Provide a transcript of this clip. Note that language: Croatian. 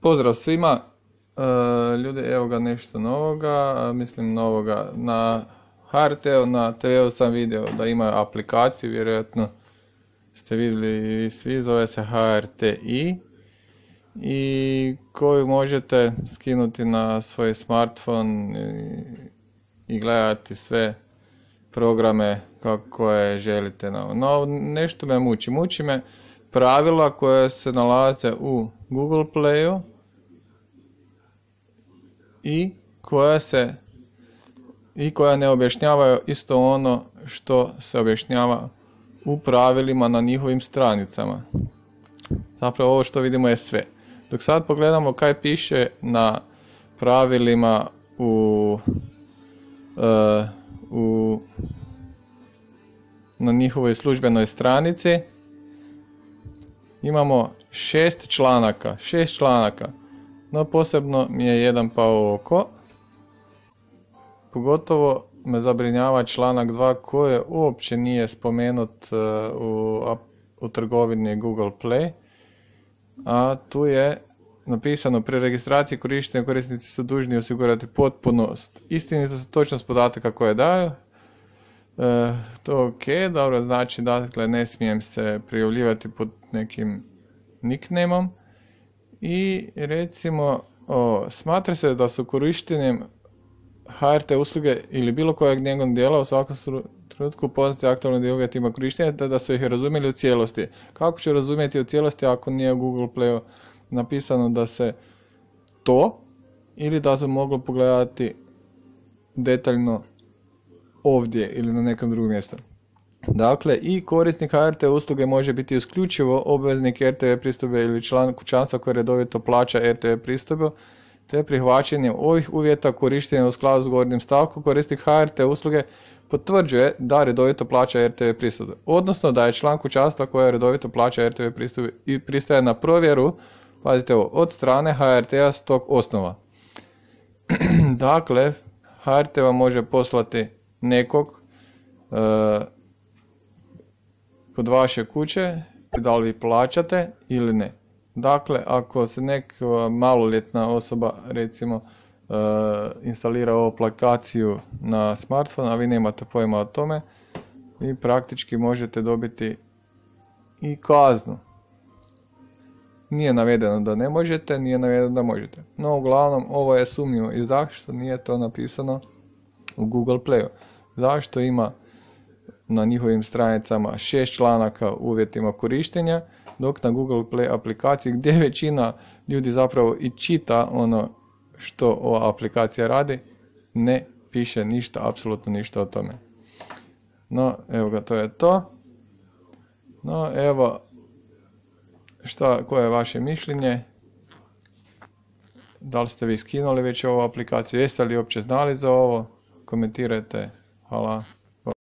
Pozdrav svima, ljudi, evo ga nešto novoga, mislim novoga na HRT-u, na TV-u sam vidio da ima aplikaciju, vjerojatno ste vidjeli i svi, zove se HRTi i koju možete skinuti na svoj smartphone i gledati sve programe kako je želite. No, nešto me muči me pravila koja se nalaze u Google Playu i koja ne objašnjavaju isto ono što se objašnjava u pravilima na njihovim stranicama. Zapravo ovo što vidimo je sve. Dok sad pogledamo kaj piše na pravilima na njihovoj službenoj stranici, imamo 6 članaka, no posebno mi je jedan pao u oko. Pogotovo me zabrinjava članak 2 koji uopće nije spomenut u trgovini Google Play, a tu je napisano: pri registraciji korištenja korisnici su dužni osigurati potpunost, istinitost, točnost podataka koje daju. To ok, dobro, znači dakle ne smijem se prijavljivati pod nekim nicknameom i recimo smatra se da su korištenjem HRT usluge ili bilo kojeg njegovog dijela u svakom trenutku poznati aktualnim uvjetima korištenja te da su ih razumjeli u cijelosti. Kako ću razumjeti u cijelosti ako nije u Google Playu napisano da se to, ili da se moglo pogledati detaljno ovdje ili na nekom drugom mjestu. Dakle, i korisnik HRT usluge može biti isključivo obveznik RTV pristojbe ili član kućanstva koji redovito plaća RTV pristojbu, te prihvaćanjem ovih uvjeta korištenja u skladu s gornjim stavkom korisnik HRT usluge potvrđuje da redovito plaća RTV pristojbu, odnosno da je član kućanstva koja redovito plaća RTV pristojbu i pristaje na provjeru, pazite ovo, od strane HRT-a s tog osnova. Dakle, HRT vam može poslati nekog kod vaše kuće, da li vi plaćate ili ne. Dakle, ako se neka maloljetna osoba recimo instalira ovu aplikaciju na smartphone, a vi nemate pojma o tome, vi praktički možete dobiti i kaznu. Nije navedeno da ne možete, nije navedeno da možete. No, uglavnom, ovo je sumnjivo. I zašto nije to napisano u Google Playu? Zašto ima na njihovim stranicama 6 članaka u uvjetima korištenja, dok na Google Play aplikaciji, gdje većina ljudi zapravo i čita ono što ova aplikacija radi, ne piše ništa, apsolutno ništa o tome. No, evo ga, to je to. No, evo, koje je vaše mišljenje? Da li ste vi skinuli već ovu aplikaciju? Jeste li uopće znali za ovo? Komentirajte. Hvala.